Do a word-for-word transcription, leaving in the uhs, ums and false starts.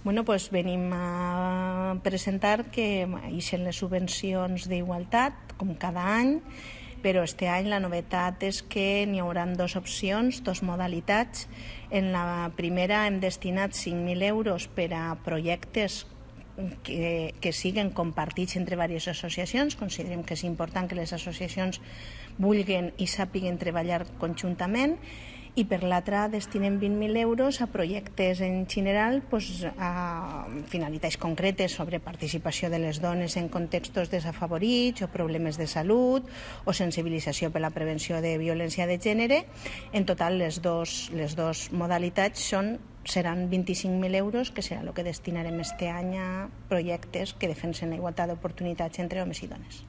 Bueno, pues venim a presentar que ixen les subvencions d'igualtat, com cada any, però este any la novetat és que n'hi haurà dues opcions, dues modalitats. En la primera hem destinat cinc mil euros per a projectes que, que siguen compartits entre diverses associacions. Considerem que és important que les associacions vulguin i sàpiguen treballar conjuntament, i per l'altra destinem vint mil euros a projectes en general, doncs, a finalitats concretes sobre participació de les dones en contextos desafavorits o problemes de salut o sensibilització per la prevenció de violència de gènere. En total, les dos, les dos modalitats són, seran vint-i-cinc mil euros, que serà el que destinarem este any a projectes que defensen la igualtat d'oportunitats entre homes i dones.